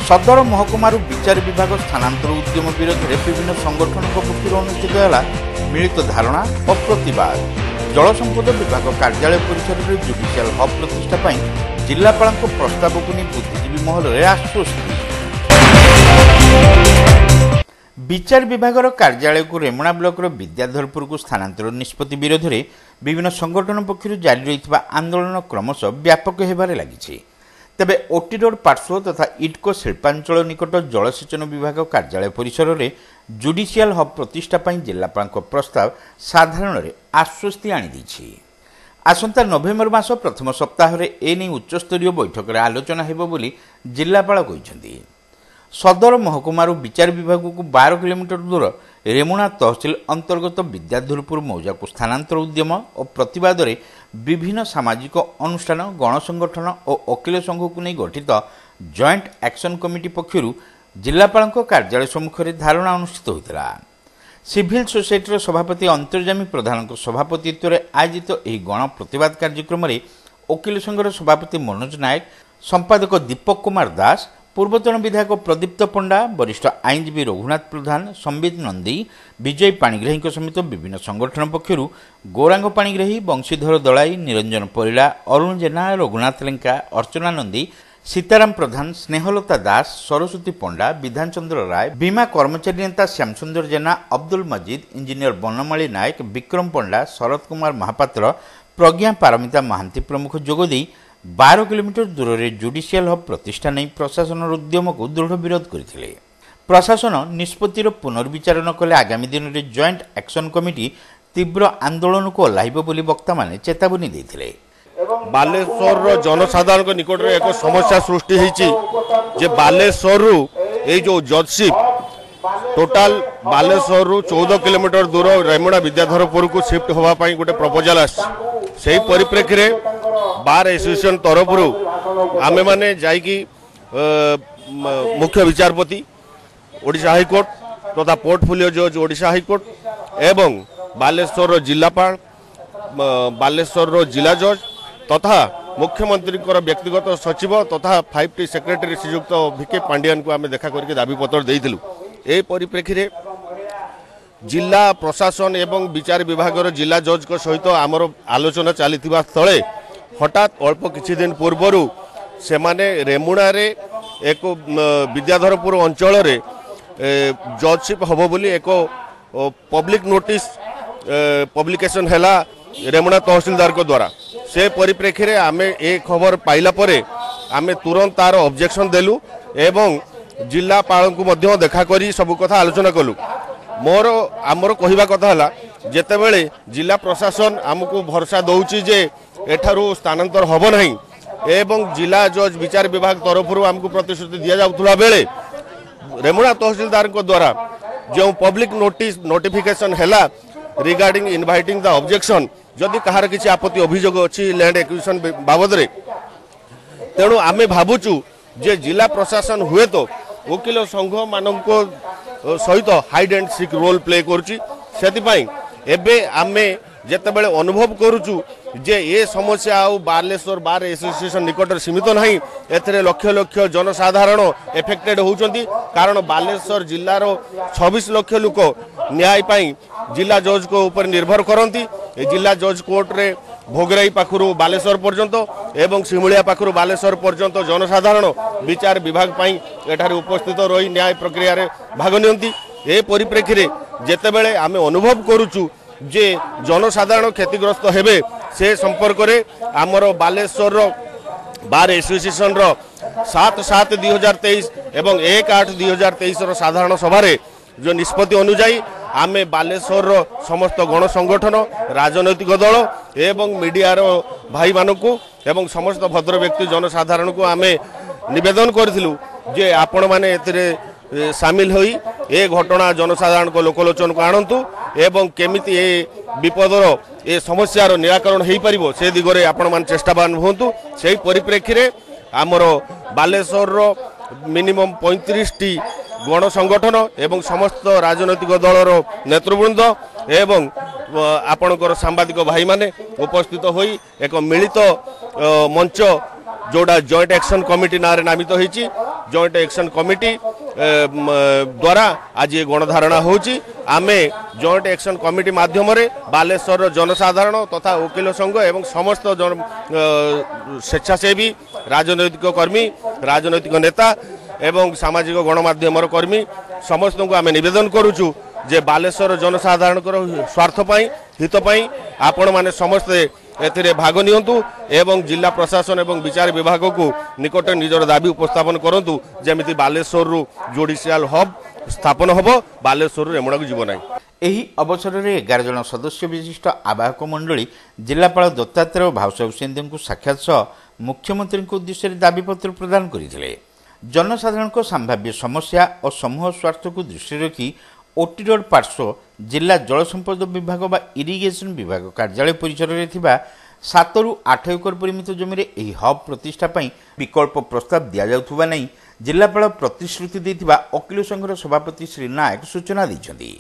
ସଦର ମହକୁମାରୁ ବିଚାର ବିଭାଗ ସ୍ଥାନାନ୍ତର ଉଦ୍ୟମ ବିରୋଧରେ ବିଭିନ୍ନ ସଂଗଠନଙ୍କ ପକ୍ଷରୁ ଅନୁଷ୍ଠିତ ହେଲା ମିଳିତ ଧାରଣା ଓ ପ୍ରତିବାଦ। ଜଳସମ୍ପଦ ବିଭାଗ କାର୍ଯ୍ୟାଳୟ ପରିସରରେ ଜୁଡିସିଆଲ ହବ୍ ପ୍ରତିଷ୍ଠା ପାଇଁ ଜିଲ୍ଲାପାଳଙ୍କ ପ୍ରସ୍ତାବକୁ ନେଇ ବୁଦ୍ଧିଜୀବୀ ମହଲରେ ଆଶ୍ୱସ୍ତି। ବିଚାର ବିଭାଗର କାର୍ଯ୍ୟାଳୟକୁ ରେମୁଣା ବ୍ଲକର ବିଦ୍ୟାଧରପୁରକୁ ସ୍ଥାନାନ୍ତର ନିଷ୍ପତ୍ତି ବିରୋଧରେ ବିଭିନ୍ନ ସଂଗଠନ ପକ୍ଷରୁ ଜାରି ରହିଥିବା ଆନ୍ଦୋଳନ କ୍ରମଶଃ ବ୍ୟାପକ ହେବାରେ ଲାଗିଛି। ତେବେ ଓଟି ରୋଡ୍ ପାର୍ଶ୍ୱ ତଥା ଇଡ୍କୋ ଶିଳ୍ପାଞ୍ଚଳ ନିକଟ ଜଳସେଚନ ବିଭାଗ କାର୍ଯ୍ୟାଳୟ ପରିସରରେ ଜୁଡିସିଆଲ ହବ୍ ପ୍ରତିଷ୍ଠା ପାଇଁ ଜିଲ୍ଲାପାଳଙ୍କ ପ୍ରସ୍ତାବ ସାଧାରଣରେ ଆଶ୍ୱସ୍ତି ଆଣିଦେଇଛି। ଆସନ୍ତା ନଭେମ୍ବର ମାସ ପ୍ରଥମ ସପ୍ତାହରେ ଏନେଇ ଉଚ୍ଚସ୍ତରୀୟ ବୈଠକରେ ଆଲୋଚନା ହେବ ବୋଲି ଜିଲ୍ଲାପାଳ କହିଛନ୍ତି। ସଦର ମହକୁମାରୁ ବିଚାର ବିଭାଗକୁ 12 କିଲୋମିଟର ଦୂର ରେମୁଣା ତହସିଲ ଅନ୍ତର୍ଗତ ବିଦ୍ୟାଧରପୁର ମୌଜାକୁ ସ୍ଥାନାନ୍ତର ଉଦ୍ୟମ ଓ ପ୍ରତିବାଦରେ ବିଭିନ୍ନ ସାମାଜିକ ଅନୁଷ୍ଠାନ, ଗଣସଂଗଠନ ଓ ଓକିଲ ସଂଘକୁ ନେଇ ଗଠିତ ଜଏଣ୍ଟ ଆକ୍ସନ୍ କମିଟି ପକ୍ଷରୁ ଜିଲ୍ଲାପାଳଙ୍କ କାର୍ଯ୍ୟାଳୟ ସମ୍ମୁଖରେ ଧାରଣା ଅନୁଷ୍ଠିତ ହୋଇଥିଲା। ସିଭିଲ ସୋସାଇଟିର ସଭାପତି ଅନ୍ତର୍ଯାମୀ ପ୍ରଧାନଙ୍କ ସଭାପତିତ୍ୱରେ ଆୟୋଜିତ ଏହି ଗଣ ପ୍ରତିବାଦ କାର୍ଯ୍ୟକ୍ରମରେ ଓକିଲ ସଂଘର ସଭାପତି ମନୋଜ ନାୟକ, ସମ୍ପାଦକ ଦୀପକ କୁମାର ଦାସ, ପୂର୍ବତନ ବିଧାୟକ ପ୍ରଦୀପ୍ତ ପଣ୍ଡା, ବରିଷ୍ଠ ଆଇନଜୀବୀ ରଘୁନାଥ ପ୍ରଧାନ, ସମ୍ବିତ ନନ୍ଦୀ, ବିଜୟ ପାଣିଗ୍ରାହୀଙ୍କ ସମେତ ବିଭିନ୍ନ ସଂଗଠନ ପକ୍ଷରୁ ଗୌରାଙ୍ଗ ପାଣିଗ୍ରାହୀ, ବଂଶୀଧର ଦଳାଇ, ନିରଞ୍ଜନ ପରିଡ଼ା, ଅରୁଣ ଜେନା, ରଘୁନାଥ ଲେଙ୍କା, ଅର୍ଚ୍ଚନା ନନ୍ଦୀ, ସୀତାରାମ ପ୍ରଧାନ, ସ୍ନେହଲତା ଦାସ, ସରସ୍ୱତୀ ପଣ୍ଡା, ବିଧାନଚନ୍ଦ୍ର ରାୟ, ବୀମା କର୍ମଚାରୀ ନେତା ଶ୍ୟାମସୁନ୍ଦର ଜେନା, ଅବଦୁଲ ମଜିଦ, ଇଞ୍ଜିନିୟର ବନମାଳୀ ନାୟକ, ବିକ୍ରମ ପଣ୍ଡା, ଶରତ କୁମାର ମହାପାତ୍ର, ପ୍ରଜ୍ଞା ପାରମିତା ମହାନ୍ତି ପ୍ରମୁଖ ଯୋଗଦେଇ 12 କିଲୋମିଟର ଦୂରରେ ଜୁଡିସିଆଲ ହବ୍ ପ୍ରତିଷ୍ଠା ନେଇ ପ୍ରଶାସନର ଉଦ୍ୟମକୁ ଦୃଢ଼ ବିରୋଧ କରିଥିଲେ। ପ୍ରଶାସନ ନିଷ୍ପତ୍ତିର ପୁନର୍ବିଚାର ନ କଲେ ଆଗାମୀ ଦିନରେ ଜଏଣ୍ଟ ଆକ୍ସନ୍ କମିଟି ତୀବ୍ର ଆନ୍ଦୋଳନକୁ ଓହ୍ଲାଇବ ବୋଲି ବକ୍ତାମାନେ ଚେତାବନୀ ଦେଇଥିଲେ। ବାଲେଶ୍ୱରର ଜନସାଧାରଣଙ୍କ ନିକଟରେ ଏକ ସମସ୍ୟା ସୃଷ୍ଟି ହେଇଛି ଯେ ବାଲେଶ୍ୱରରୁ ଏଇ ଯେଉଁ ଜଜସିପ୍ ଟୋଟାଲ ବାଲେଶ୍ୱରରୁ 14 କିଲୋମିଟର ଦୂର ରେମୁଣା ବିଦ୍ୟାଧରପୁରକୁ ସିଫ୍ଟ ହେବା ପାଇଁ ଗୋଟେ ପ୍ରପୋଜାଲ ଆସିଛି। ସେହି ପରିପ୍ରେକ୍ଷୀରେ ବାର୍ ଆସୋସିଏସନ୍ ତରଫରୁ ଆମେମାନେ ଯାଇକି ମୁଖ୍ୟ ବିଚାରପତି ଓଡ଼ିଶା ହାଇକୋର୍ଟ ତଥା ପୋର୍ଟଫୋଲିଓ ଜଜ୍ ଓଡ଼ିଶା ହାଇକୋର୍ଟ ଏବଂ ବାଲେଶ୍ୱରର ଜିଲ୍ଲାପାଳ, ବାଲେଶ୍ୱରର ଜିଲ୍ଲା ଜଜ୍ ତଥା ମୁଖ୍ୟମନ୍ତ୍ରୀଙ୍କର ବ୍ୟକ୍ତିଗତ ସଚିବ ତଥା 5ଟି ସେକ୍ରେଟାରୀ ଶ୍ରୀଯୁକ୍ତ ଭି କେ ପାଣ୍ଡିଆନକୁ ଆମେ ଦେଖା କରିକି ଦାବିପତ୍ର ଦେଇଥିଲୁ। ଏହି ପରିପ୍ରେକ୍ଷୀରେ ଜିଲ୍ଲା ପ୍ରଶାସନ ଏବଂ ବିଚାର ବିଭାଗର ଜିଲ୍ଲା ଜଜ୍ଙ୍କ ସହିତ ଆମର ଆଲୋଚନା ଚାଲିଥିବା ସ୍ଥଳେ ହଠାତ୍ ଅଳ୍ପ କିଛି ଦିନ ପୂର୍ବରୁ ସେମାନେ ରେମୁଣାରେ ଏକ ବିଦ୍ୟାଧରପୁର ଅଞ୍ଚଳରେ ଜଜସିପ୍ ହେବ ବୋଲି ଏକ ପବ୍ଲିକ୍ ନୋଟିସ୍ ପବ୍ଲିକେସନ୍ ହେଲା ରେମୁଣା ତହସିଲଦାରଙ୍କ ଦ୍ୱାରା। ସେ ପରିପ୍ରେକ୍ଷୀରେ ଆମେ ଏ ଖବର ପାଇଲା ପରେ ଆମେ ତୁରନ୍ତ ତାର ଅବଜେକ୍ସନ୍ ଦେଲୁ ଏବଂ ଜିଲ୍ଲାପାଳଙ୍କୁ ମଧ୍ୟ ଦେଖା କରି ସବୁ କଥା ଆଲୋଚନା କଲୁ। ମୋର ଆମର କହିବା କଥା ହେଲା, ଯେତେବେଳେ ଜିଲ୍ଲା ପ୍ରଶାସନ ଆମକୁ ଭରସା ଦେଉଛି ଯେ ଏଠାରୁ ସ୍ଥାନାନ୍ତର ହେବ ନାହିଁ ଏବଂ ଜିଲ୍ଲା ଜଜ୍ ବିଚାର ବିଭାଗ ତରଫରୁ ଆମକୁ ପ୍ରତିଶ୍ରୁତି ଦିଆଯାଉଥିଲା ବେଳେ ରେମୁଣା ତହସିଲଦାରଙ୍କ ଦ୍ୱାରା ଯେଉଁ ପବ୍ଲିକ୍ ନୋଟିସ୍ ନୋଟିଫିକେସନ୍ ହେଲା ରିଗାର୍ଡିଂ ଇନଭାଇଟିଂ ଦ ଅବଜେକ୍ସନ୍, ଯଦି କାହାର କିଛି ଆପତ୍ତି ଅଭିଯୋଗ ଅଛି ଲ୍ୟାଣ୍ଡ ଏକ୍ୱିଜିସନ୍ ବାବଦରେ, ତେଣୁ ଆମେ ଭାବୁଛୁ ଯେ ଜିଲ୍ଲା ପ୍ରଶାସନ ହୁଏତ ଓକିଲ ସଂଘମାନଙ୍କ ସହିତ hide and seek role play କରୁଛି। ସେଥିପାଇଁ ଏବେ ଆମେ ଯେତେବେଳେ ଅନୁଭବ କରୁଛୁ ଯେ ଏ ସମସ୍ୟା ଆଉ ବାଲେଶ୍ୱର ବାର୍ ଆସୋସିଏସନ୍ ନିକଟରେ ସୀମିତ ନାହିଁ, ଏଥିରେ ଲକ୍ଷ ଲକ୍ଷ ଜନସାଧାରଣ ଏଫେକ୍ଟେଡ୍ ହେଉଛନ୍ତି। କାରଣ ବାଲେଶ୍ୱର ଜିଲ୍ଲାର 26 ଲକ୍ଷ ଲୋକ ନ୍ୟାୟ ପାଇଁ ଜିଲ୍ଲା ଜଜ୍ଙ୍କ ଉପରେ ନିର୍ଭର କରନ୍ତି। ଏ ଜିଲ୍ଲା ଜଜ୍ କୋର୍ଟରେ ଭୋଗରାଇ ପାଖରୁ ବାଲେଶ୍ୱର ପର୍ଯ୍ୟନ୍ତ ଏବଂ ଶିମୁଳିଆ ପାଖରୁ ବାଲେଶ୍ୱର ପର୍ଯ୍ୟନ୍ତ ଜନସାଧାରଣ ବିଚାର ବିଭାଗ ପାଇଁ ଏଠାରେ ଉପସ୍ଥିତ ରହି ନ୍ୟାୟ ପ୍ରକ୍ରିୟାରେ ଭାଗ ନିଅନ୍ତି। ଏ ପରିପ୍ରେକ୍ଷୀରେ ଯେତେବେଳେ ଆମେ ଅନୁଭବ କରୁଛୁ ଯେ ଜନସାଧାରଣ କ୍ଷତିଗ୍ରସ୍ତ ହେବେ, ସେ ସମ୍ପର୍କରେ ଆମର ବାଲେଶ୍ୱରର ବାର୍ ଆସୋସିଏସନ୍ର 7/7/2023 ଏବଂ 1/8/2023ର ସାଧାରଣ ସଭାରେ ଯେଉଁ ନିଷ୍ପତ୍ତି ଅନୁଯାୟୀ ଆମେ ବାଲେଶ୍ୱରର ସମସ୍ତ ଗଣ ସଂଗଠନ, ରାଜନୈତିକ ଦଳ ଏବଂ ମିଡ଼ିଆର ଭାଇମାନଙ୍କୁ ଏବଂ ସମସ୍ତ ଭଦ୍ର ବ୍ୟକ୍ତି ଜନସାଧାରଣଙ୍କୁ ଆମେ ନିବେଦନ କରିଥିଲୁ ଯେ ଆପଣମାନେ ଏଥିରେ ସାମିଲ ହୋଇ ଏ ଘଟଣା ଜନସାଧାରଣଙ୍କ ଲୋକଲୋଚନକୁ ଆଣନ୍ତୁ ଏବଂ କେମିତି ଏ ବିପଦର ଏ ସମସ୍ୟାର ନିରାକରଣ ହୋଇପାରିବ ସେ ଦିଗରେ ଆପଣମାନେ ଚେଷ୍ଟାବାନ ହୁଅନ୍ତୁ। ସେହି ପରିପ୍ରେକ୍ଷୀରେ ଆମର ବାଲେଶ୍ୱରର ମିନିମମ୍ 35ଟି ଗଣ ସଂଗଠନ ଏବଂ ସମସ୍ତ ରାଜନୈତିକ ଦଳର ନେତୃବୃନ୍ଦ ଏବଂ ଆପଣଙ୍କର ସାମ୍ବାଦିକ ଭାଇମାନେ ଉପସ୍ଥିତ ହୋଇ ଏକ ମିଳିତ ମଞ୍ଚ ଯେଉଁଟା ଜଏଣ୍ଟ ଆକ୍ସନ୍ କମିଟି ନାଁରେ ନାମିତ ହୋଇଛି, ଜଏଣ୍ଟ ଆକ୍ସନ୍ କମିଟି ଦ୍ୱାରା ଆଜି ଏ ଗଣଧାରଣା ହେଉଛି। ଆମେ ଜଏଣ୍ଟ ଆକ୍ସନ୍ କମିଟି ମାଧ୍ୟମରେ ବାଲେଶ୍ୱରର ଜନସାଧାରଣ ତଥା ଓକିଲ ସଂଘ ଏବଂ ସମସ୍ତ ସ୍ୱେଚ୍ଛାସେବୀ, ରାଜନୈତିକ କର୍ମୀ, ରାଜନୈତିକ ନେତା ଏବଂ ସାମାଜିକ ଗଣମାଧ୍ୟମର କର୍ମୀ ସମସ୍ତଙ୍କୁ ଆମେ ନିବେଦନ କରୁଛୁ ଯେ ବାଲେଶ୍ୱର ଜନସାଧାରଣଙ୍କର ସ୍ୱାର୍ଥ ପାଇଁ, ହିତ ପାଇଁ ଆପଣମାନେ ସମସ୍ତେ ଏଥିରେ ଭାଗ ନିଅନ୍ତୁ ଏବଂ ଜିଲ୍ଲା ପ୍ରଶାସନ ଏବଂ ବିଚାର ବିଭାଗକୁ ନିକଟରେ ନିଜର ଦାବି ଉପସ୍ଥାପନ କରନ୍ତୁ, ଯେମିତି ବାଲେଶ୍ୱରରୁ ଜୁଡ଼ିସିଆଲ ହବ୍ ସ୍ଥାପନ ହେବ, ବାଲେଶ୍ୱରରୁ ରେମୁଣାକୁ ଯିବ ନାହିଁ। ଏହି ଅବସରରେ 11 ଜଣ ସଦସ୍ୟ ବିଶିଷ୍ଟ ଆବାହକ ମଣ୍ଡଳୀ ଜିଲ୍ଲାପାଳ ଦତ୍ତାତ୍ରେୟ ଭାଉସାହେବ ସିନ୍ଦେଙ୍କୁ ସାକ୍ଷାତ ସହ ମୁଖ୍ୟମନ୍ତ୍ରୀଙ୍କ ଉଦ୍ଦେଶ୍ୟରେ ଦାବିପତ୍ର ପ୍ରଦାନ କରିଥିଲେ। ଜନସାଧାରଣଙ୍କ ସମ୍ଭାବ୍ୟ ସମସ୍ୟା ଓ ସମୂହ ସ୍ୱାର୍ଥକୁ ଦୃଷ୍ଟିରେ ରଖି ଓଟି ରୋଡ୍ ପାର୍ଶ୍ୱ ଜିଲ୍ଲା ଜଳସମ୍ପଦ ବିଭାଗ ବା ଇରିଗେସନ ବିଭାଗ କାର୍ଯ୍ୟାଳୟ ପରିସରରେ ଥିବା 7ରୁ 8 ଏକର ପରିମିତ ଜମିରେ ଏହି ହବ୍ ପ୍ରତିଷ୍ଠା ପାଇଁ ବିକଳ୍ପ ପ୍ରସ୍ତାବ ଦିଆଯାଉଥିବା ନେଇ ଜିଲ୍ଲାପାଳ ପ୍ରତିଶ୍ରୁତି ଦେଇଥିବା ଓକିଲ ସଂଘର ସଭାପତି ଶ୍ରୀ ନାୟକ ସୂଚନା ଦେଇଛନ୍ତି।